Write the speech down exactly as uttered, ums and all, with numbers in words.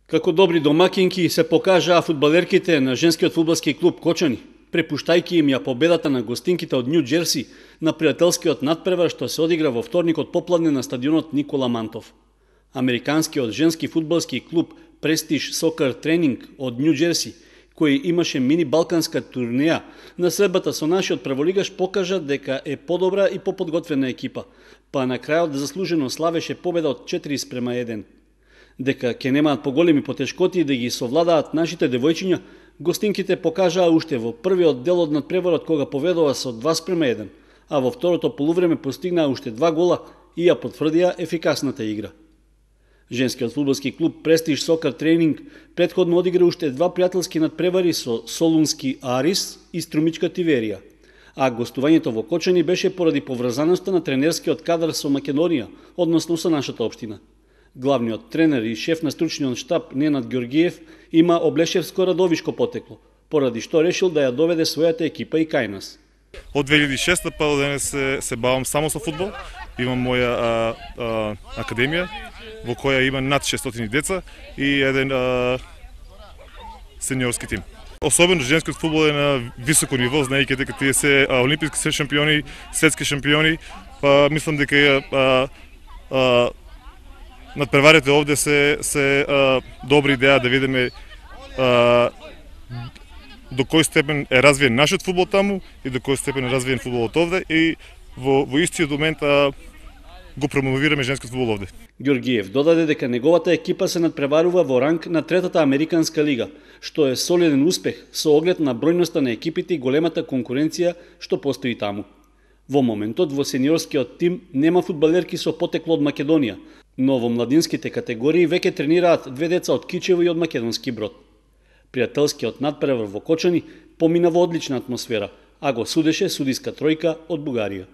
Како добри домакинки се покажаа фудбалерките на женскиот фудбалски клуб Кочани, препуштајќи им ја победата на гостинките од Нью Џерси на пријателскиот надпревар што се одигра во вторникот попладне на стадионот Никола Мантов. Американскиот женски фудбалски клуб Prestige Soccer Training од Нью Џерси, кој имаше мини балканска турнеја, на средбата со нашиот прволигаш покажа дека е подобра и поподготвена екипа, па на крајот заслужено славеше победа од четири спрема еден. Дека ќе немаат поголеми потешкоти да ги совладаат нашите девојчиња, гостинките покажаа уште во првиот дел од надпреварот кога поведува со два спрема еден, а во второто полувреме постигнаа уште два гола и ја потврдија ефикасната игра. Женскиот фудбалски клуб Prestige Soccer Training претходно одигра уште два пријателски надпревари со Солунски Арис и Струмичка Тиверија, а гостувањето во Кочани беше поради поврзаноста на тренерскиот кадар со Македонија, односно со нашата општина. Главниот тренер и шеф на стручниот штаб Ненад Ѓоргиев има облешевско-радовишко потекло, поради што решил да ја доведе својата екипа и кај нас. Од две илјади и шеста па до денес се, се бавам само со фудбал. Имам моја а, а, академија во која има над шестстотини деца и еден а, сениорски тим. Особено женскиот фудбал е на високо ниво, знаејќи дека тие се а, олимписки шампиони, светски шампиони, па мислам дека а, а, надпреварите овде се се а, добра идеја да видиме а, до кој степен е развиен нашиот фудбал таму и до кој степен е развиен фудбалот овде и во, во истиот момент а, го промовираме женскиот фудбал овде. Ѓоргиев додаде дека неговата екипа се надпреварува во ранг на третата Американска лига, што е солиден успех со оглед на бројноста на екипите и големата конкуренција што постои таму. Во моментот во сениорскиот тим нема фудбалерки со потекло од Македонија, но во младинските категории веќе тренираат две деца од Кичево и од македонски Брод. Пријателскиот надпревар во Кочани помина во одлична атмосфера, а го судеше судиска тројка од Бугарија.